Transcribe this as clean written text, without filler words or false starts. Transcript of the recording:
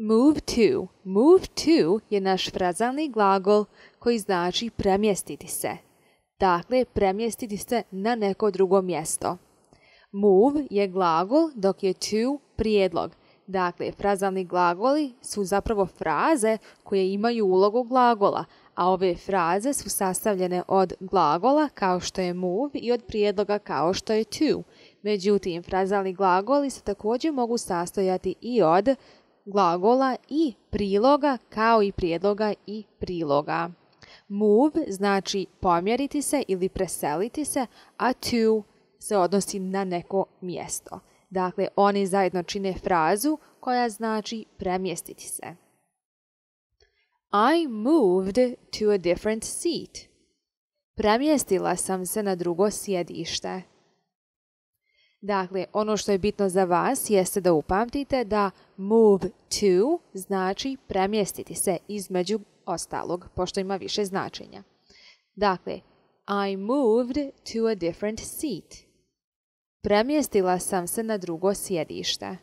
Move to. Move to je naš frazalni glagol koji znači premjestiti se. Dakle, premjestiti se na neko drugo mjesto. Move je glagol dok je to prijedlog. Dakle, frazalni glagoli su zapravo fraze koje imaju ulogu glagola, a ove fraze su sastavljene od glagola kao što je move i od prijedloga kao što je to. Međutim, frazalni glagoli se također mogu sastojati i od glagola i priloga kao i prijedloga i priloga. Move znači pomjeriti se ili preseliti se, a to se odnosi na neko mjesto. Dakle, oni zajedno čine frazu koja znači premjestiti se. I moved to a different seat. Premjestila sam se na drugo sjedište. Dakle, ono što je bitno za vas jeste da upamtite da move to znači premjestiti se između ostalog, pošto ima više značenja. Dakle, I moved to a different seat. Premjestila sam se na drugo sjedište.